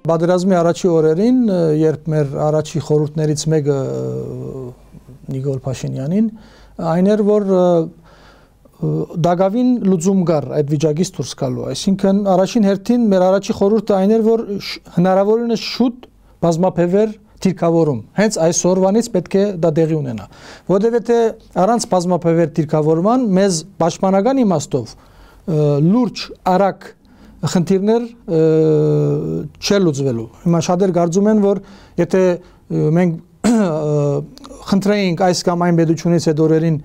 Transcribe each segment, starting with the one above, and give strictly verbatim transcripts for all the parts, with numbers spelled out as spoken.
Պատերազմի առաջի օրերին, երբ մեր առաջի խորհուրդներից մեկը Նիկոլ Փաշինյանին, այն էր, որ դակավին լուծում կար այդ վիճակից դուրս գալու։ Այսինքն առաջին հերթին մեր առաջի խորհուրդը այն էր, որ հնարավորինս շուտ բազմապեվեր դիրքավորում։ Հենց այսօրվանից պետք է դա տեղի ունենա։ Որովհետև առանց բազմապեվեր դիրքավորման մեզ պաշտպանական իմաստով լուրջ արագ խնդիրներ չէ լուծվելու։ Հիմա շատեր կարծում են, որ եթե մենք խնդրեինք այս կամ այն պետությունից այդ օրերին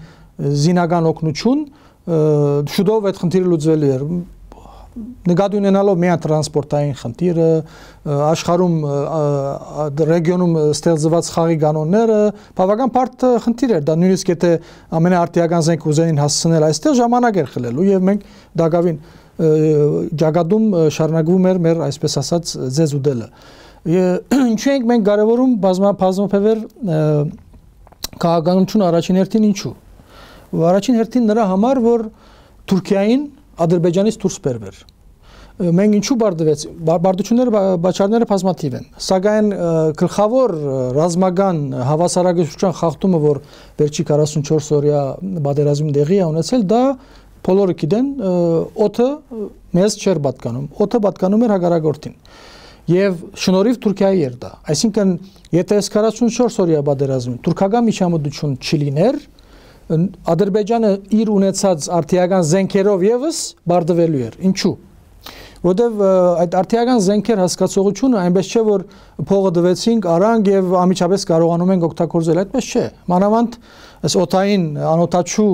զինական օգնություն, շուտով այդ խնդիրը լուծվելու էր։ Նկատի ունենալով միայն տրանսպորտային խնդիրը, աշխարհում ռեգիոնում ստեղծված խաղի կանոնները, բավական բարդ խնդիր էր։ Դա նույնիսկ եթե ամենաարտիական զենք ուզեին հասցնել այստեղ, ժամանակ էր խլելու եւ մենք դակավին ճակատում շարունակվում էր մեր այսպես ասած ձեզ ուտելը։ Ինչու ենք մենք կարևորում բազմապեվեր քաղաքականություն առաջին հերթին ինչու։ Առաջին հերթին նրա համար, որ Թուրքիային Ադրբեջանից դուրս բերվեր։ Մենք ինչու բարդվեց, բարդությունները բացառները բազմաթիվ են, սակայն գլխավոր ռազմական հավասարակշռության խախտումը, որ վերջի քառասունչորս օրյա պատերազմի տեղի է ունեցել, դա բոլորը գիտեն, օդը մեզ չէր պատկանում, օդը պատկանում էր հակառակորդին։ Եվ շնորհիվ Թուրքիայի էր դա։ Այսինքն, եթե այս քառասունչորս օրյա պատերազմին թուրքական միջամտություն չլիներ, Ադրբեջանը իր ունեցած արտիական զենքերով եւս բարդվելու էր։ Ինչու՞։ Որտեւ այդ արտիական զենքեր հասկացողությունը այնպես չէ, որ փողը դվեցինք, արանք եւ ամիջապես կարողանում ենք օգտագործել, այդպես չէ։ Մանավանդ այս օթային անօթաչու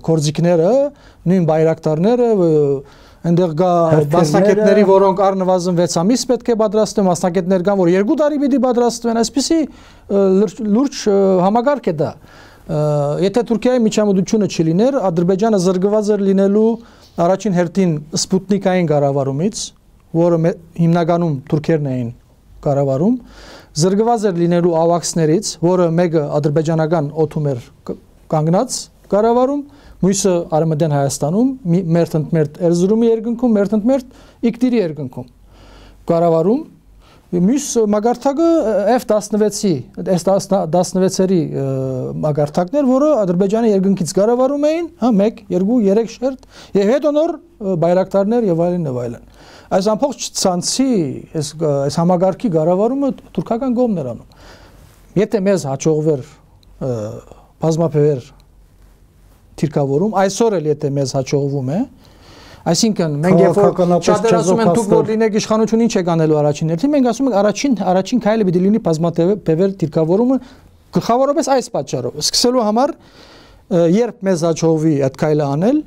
կորձիկները, նույն բայրակտարները, այնտեղ կա մասնակիցների, որոնք առնվազն վեց ամիս պետք է պատրաստեն, մասնակիցներ կան, որ երկու տարի պիտի պատրաստվեն, այսպեսի լուրջ համակարգ է դա։ Եթե Թուրքիայի միջամտությունը չլիներ, Ադրբեջանը զրկված էր լինելու առաջին հերթին սպուտնիկային կառավարումից, որը հիմնականում թուրքերն էին կառավարում, զրկված էր լինելու ավաքսներից, որը մեկը ադրբեջանական օդում էր կանգնած կառավարում, մյուսը Արևմտյան Հայաստանում, մերթ ընդմերթ Էրզրումի երկնքում, մերթ ընդմերթ Իգդիրի երկնքում կառավարում։ Մյուս մագարտակը F տասնվեցի, S տասնվեցերի մագարտակներ, որը Ադրբեջանի երկնքից կառավարում էին, հա, մեկ, երկու, երեք շերտ, եւ հետո նոր բայրակտարներ եւ այլն եւ այլն։ Այս ամբողջ ցանցի, այս այս համագարկի կառավարումը թուրքական կողմն էր անում։ Եթե մեզ հաջողվեր բազմապեվեր դիրքավորում, այսօր էլ եթե մեզ հաջողվում է, այսինքն մենք երբ որ շատեր ասում են դուք որ լինեք իշխանություն ինչ եք անելու առաջին հերթին, մենք ասում ենք առաջին առաջին քայլը պիտի լինի բազմապեվեր դիրքավորումը գլխավորապես այս պատճառով։ Սկսելու համար երբ մեզ հաջողվի այդ քայլը անել,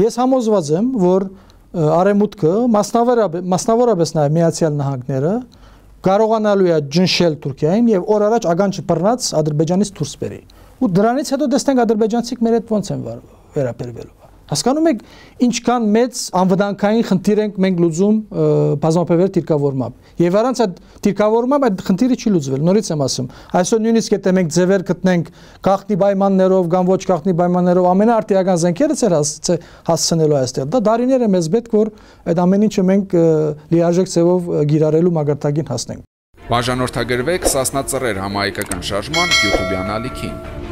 ես համոզված եմ, որ Արևմուտքը, մասնավորապես նաև Միացյալ Նահանգները կարողանալու է ջնշել Թուրքիային եւ օր առաջ ականջը բռնած Ադրբեջանից դուրս բերի։ Ու դրանից հետո տեսնենք ադրբեջանցիք մեր հետ ոնց են վերաբերվելու։ Հասկանում եք ինչքան մեծ անվտանգային խնդիր ենք մենք լուծում բազմապեվեր դիրքավորմամբ։ Եվ առանց այդ դիրքավորմամբ այդ խնդիրը չի լուծվել։ Նորից եմ ասում, այսօր նույնիսկ եթե մենք ձևեր գտնենք գաղտնի պայմաններով կամ ոչ գաղտնի պայմաններով ամենաարտիական զենքերը ցեր հասցնելու այստեղ, դա դարիներ է մեզ պետք, որ այդ ամեն ինչը մենք լիարժեք ձևով գիրառելու մագարտակին հասնենք։ Բաժանորդագրվեք Սասնա Ծռեր համահայկական շարժման YouTube-յան ալիքին։